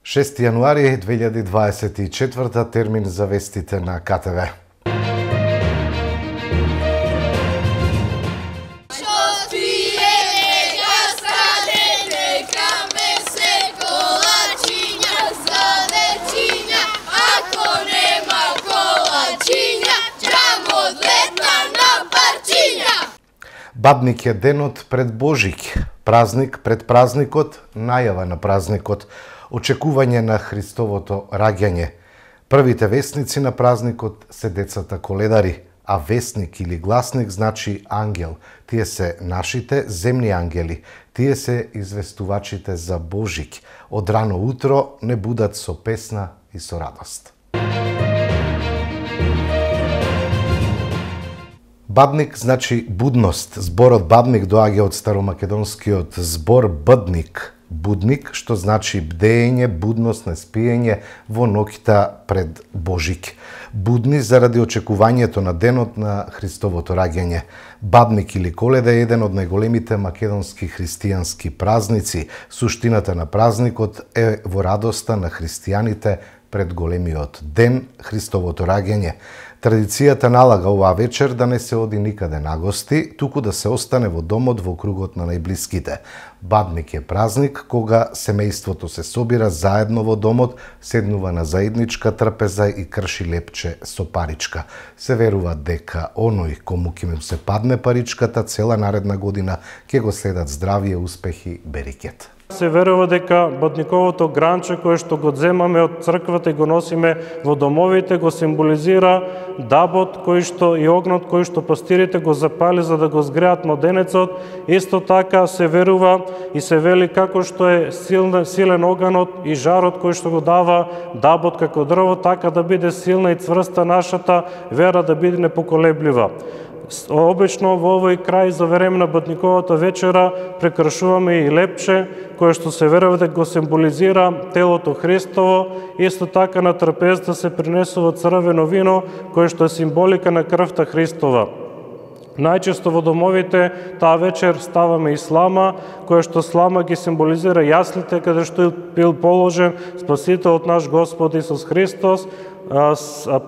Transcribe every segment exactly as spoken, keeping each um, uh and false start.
шести јануари две илјади дваесет и четврта, термин за вестите на К Т В. Бадник е денот пред Божик, празник пред празникот, најава на празникот, очекување на Христовото раѓање. Првите вестници на празникот се децата коледари, а вестник или гласник значи ангел. Тие се нашите земни ангели, тие се известувачите за Божик. Од рано утро не будат со песна и со радост. Бадник значи будност. Зборот бадник доаѓа од старомакедонскиот збор бъдник, будник, што значи бдење, будност на спиење во ноќта пред Божик. Будни заради очекувањето на денот на Христовото раѓање. Бадник или Коледа е еден од најголемите македонски христијански празници. Суштината на празникот е во радоста на христијаните пред големиот ден, Христовото раѓање. Традицијата налага оваа вечер да не се оди никаде на гости, туку да се остане во домот во кругот на најблиските. Бадник е празник кога семејството се собира заедно во домот, седнува на заедничка трпеза и крши лепче со паричка. Се верува дека оној кому ќе му се падне паричката цела наредна година ќе го следат здравје, успехи, берикет. Се верува дека бадниковото гранче кое што го земаме од црквата и го носиме во домовите го символизира дабот кој што и огнот кој што пастирите го запали за да го згреат младенецот. Исто така се верува и се вели како што е силен, силен оганот и жарот кој што го дава дабот како дрво, така да биде силна и цврста нашата вера, да биде непоколеблива. Обично во овој крај за време на бадниковата вечера прекршуваме и лепче, кое што се верува дека го символизира телото Христово. Исто така на трпезата се принесува црвено вино, кое што е символика на крвта Христова. Најчесто во домовите таа вечер ставаме и слама, која што слама ги символизира јаслите каде што бил положен Спасителот наш Господ Исус Христос.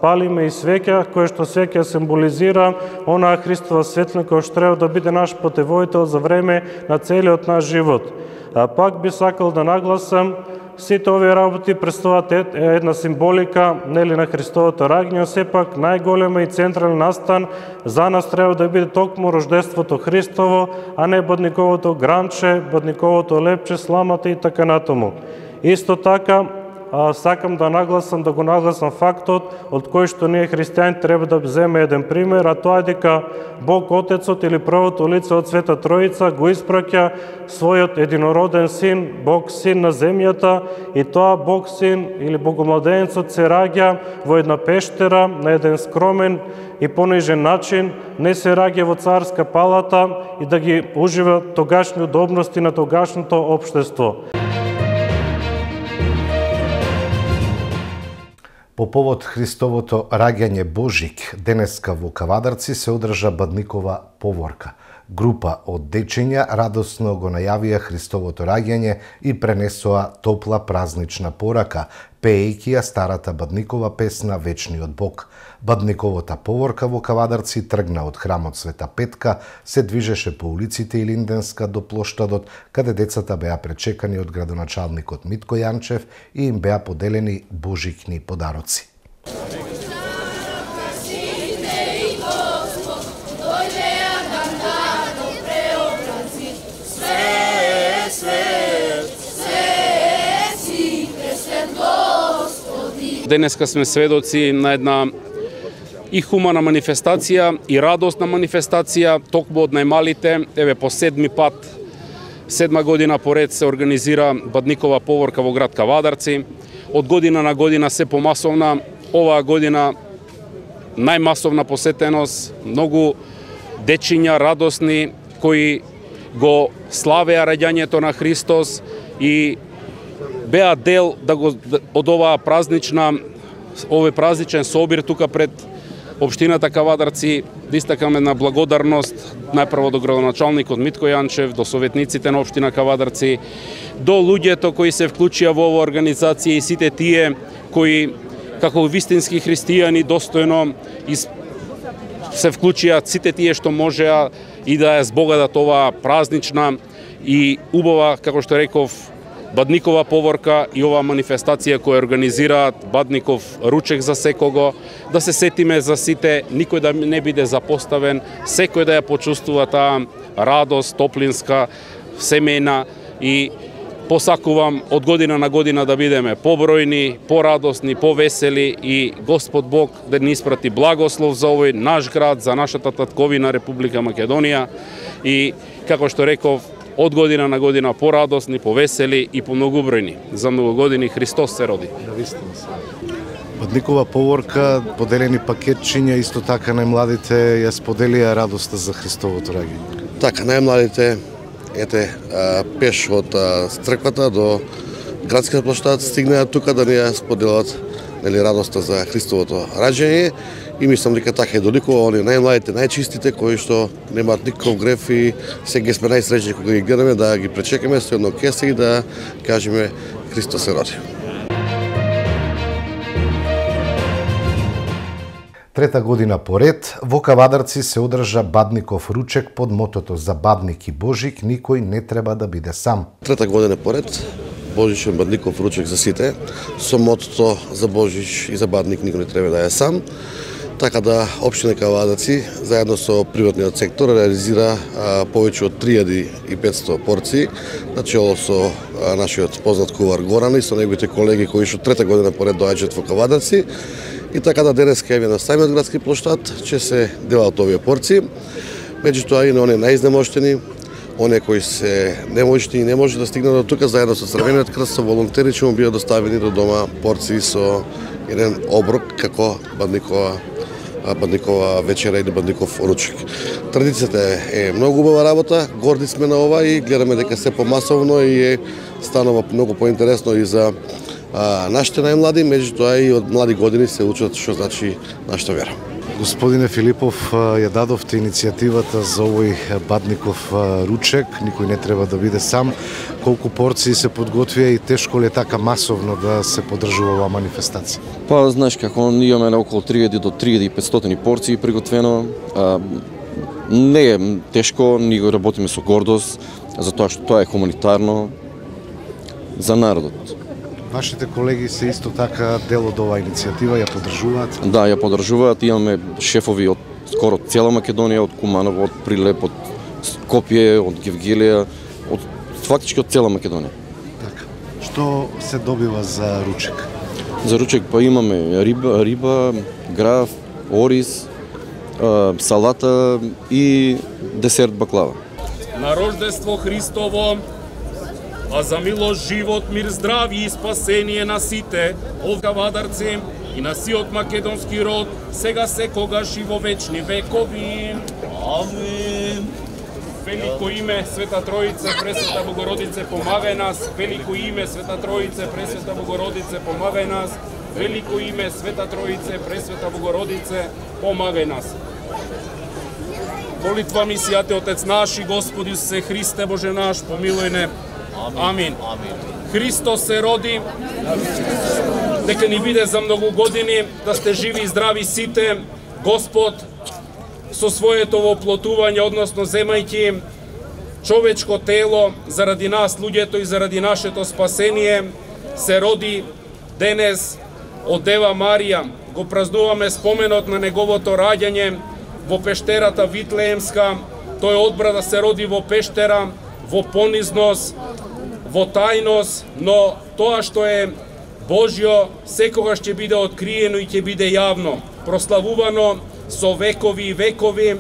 Палиме и свеќа, која што свеќа символизира онаа Христова светлина која што треба да биде наш патеводител за време на целиот наш живот. Пак би сакал да нагласам, сите овие работи представуваат една символика нели на Христовото раѓање, сепак најголема и централен настан за нас треба да биде токму рождеството Христово, а не бадниковото гранче, бадниковото лепче, сламата и така натаму. Исто така, А, сакам да нагласам, да го нагласам фактот од кој што ние христијани треба да земе еден пример, а тоа е дека Бог Отецот или првото лице од Света Троица го испраќа својот единороден син, Бог Син на земјата, и тоа Бог Син или Богомладенецот се раѓа во една пештера на еден скромен и понижен начин, не се раѓа во царска палата и да ги ужива тогашни удобности на тогашното општество. По повод Христовото раѓање Божик, денеска во Кавадарци се одржа бадникова поворка. Група од дечиња радосно го најавија Христовото раѓање и пренесоа топла празнична порака, пеејќи ја старата бадникова песна Вечниот Бог. Бадниковата поворка во Кавадарци тргна од храмот Света Петка, се движеше по улиците Илинденска до плоштадот, каде децата беа пречекани од градоначалникот Митко Јанчев и им беа поделени божикни подароци. Денеска сме сведоци на една и хумана манифестација, и радосна манифестација, токму од најмалите. Еве по седми пат, седма година поред се организира бадникова поворка во град Кавадарци. Од година на година се помасовна. Оваа година најмасовна посетеност, многу дечиња радосни кои го славеа раѓањето на Христос и беа дел да го, од оваа празнична, овој празничен собир тука пред Општината Кавадарци да истакаме на благодарност најпрво до градоначалникот Митко Јанчев, до советниците на општина Кавадарци, до луѓето кои се вклучија во оваа организација и сите тие кои како вистински христијани достојно се вклучија, сите тие што можеа и да ја збогадат оваа празнична и убава, како што реков, Бадникова поворка и оваа манифестација која организираат Бадников ручек за секого, да се сетиме за сите, никој да не биде запоставен, секој да ја почувствува таа радост, топлинска, семејна и посакувам од година на година да бидеме побројни, порадосни, повесели и Господ Бог да ни испрати благослов за овој наш град, за нашата татковина Република Македонија и, како што реков, од година на година порадосни, повесели и помногубројни. За многу години Христос се роди. Навистина се. Бадникова поворка, поделени пакетчиња, исто така најмладите ја споделија радоста за Христовото раѓање. Така, најмладите ете пеш од црквата до градскиот площад стигнаа тука да ни ја споделат, нели, радоста за Христовото раѓање. И мислам дека така е доликува они најмладите, најчистите, кои што немаат никаков греф и сега сме најсреќни кога ги гледаме, да ги пречекаме со едно кесе и да кажеме Христос се роди. Трета година поред, во Кавадарци се одржа Бадников ручек под мотото "За Бадник и Божик никој не треба да биде сам". Трета година поред, Божичен Бадников ручек за сите, со мотото "За Божич и за Бадник никој не треба да е сам". Така да општина Кавадарци заедно со приватниот сектор реализира а, повеќе од три илјади и петстотини порции, начело со а, нашиот познат кувар Горан и со неговите колеги кои што трета година поред доаѓаат во Кавадарци. И така да денеска еве на самиот градски площад ќе се делат овие порции. Меѓутоа и на оние најизнемоштени, оние кои се неможни и не може да стигнат до тука, заедно со Црвениот крст, со волонтери ќе му бидат доставени до дома порции со еден оброк како Бадникова Бадникова вечера или Бадников ручек. Традицијата е многу убава работа, горди сме на ова и гледаме дека се помасовно и е станува многу поинтересно и за а, нашите најмлади, меѓутоа и од млади години се учат што значи нашата вера. Господине Филипов, ја дадовте иницијативата за овој Бадников ручек, никој не треба да биде сам. Колку порции се подготвија и тешко ли е така масовно да се подржува оваа манифестација? Па, знаеш како, имаме на околу три илјади до три илјади и петстотини порции приготвено. А, не е тешко, ние го работиме со гордост, затоа што тоа е хуманитарно за народот. Вашите колеги се исто така дел од оваа иницијатива, ја поддржуваат? Да, ја поддржуваат. Имаме шефови од скоро цела Македонија, од Куманово, од Прилеп, од Скопје, од Гевгелија, од фактички од цела Македонија. Така. Што се добива за ручек? За ручек па имаме риба, риба, граф, ориз, салата и десерт баклава. На рождество Христово, а за милост, живот, мир, здравје и спасение на сите, од Кавадарци и на сиот македонски род, сега секогаш и во вечни векови. Амин. Велико име Света Троице, Пресвета Богородице, помагај нас. Велико име Света Троице, Пресвета Богородице, помагај нас. Велико име Света Троице, Пресвета Богородице, помагај нас. Молитва ми сијате Отец наш и Господи Исусе Христе, Боже наш, помилуј не. Амин. Христос се роди, дека ни биде за многу години, да сте живи и здрави сите. Господ со своето воплотување, односно земајќи човечко тело заради нас, луѓето, и заради нашето спасение, се роди денес од Дева Марија. Го празнуваме споменот на неговото раѓање во пештерата Витлеемска. Тој одбра да се роди во пештера, во понизност, во тајност, но тоа што е Божјо секогаш ќе биде откриено и ќе биде јавно, прославувано со векови и векови.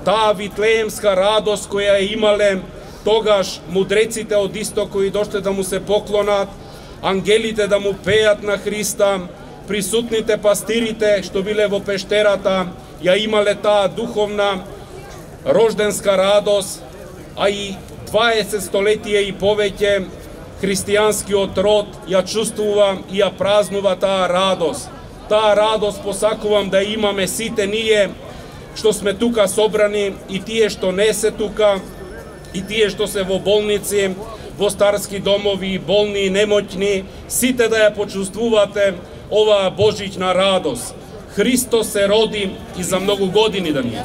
Таа витлеемска радост која е имале тогаш мудреците од исток кои дошле да му се поклонат, ангелите да му пеат на Христа, присутните пастирите што биле во пештерата, ја имале таа духовна рожденска радост, а и дваесет столетија и повеќе христијанскиот род ја чувствува и ја празнува таа радост. Таа радост посакувам да имаме сите ние што сме тука собрани, и тие што не се тука, и тие што се во болници, во старски домови, болни и немоќни, сите да ја почувствувате оваа божична радост. Христос се роди и за многу години да ни е.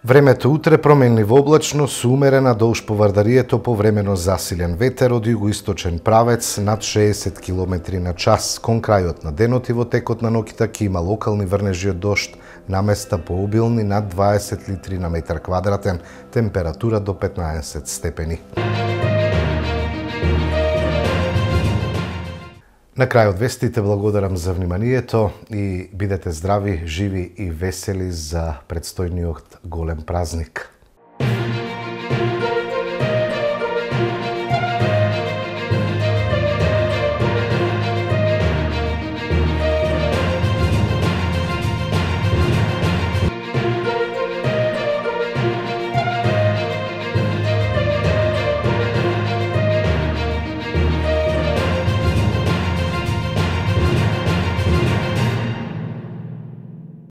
Времето утре променливо облачно со умерена долж по Вардарието повремено засилен ветер од југоисточен правец над шеесет километри на час. Кон крајот на денот и во текот на ноќта ќе има локални врнежи од дожд, наместа пообилни над дваесет литри на метар квадратен, температура до петнаесет степени. На крај од вестите благодарам за вниманието и бидете здрави, живи и весели за предстојниот голем празник.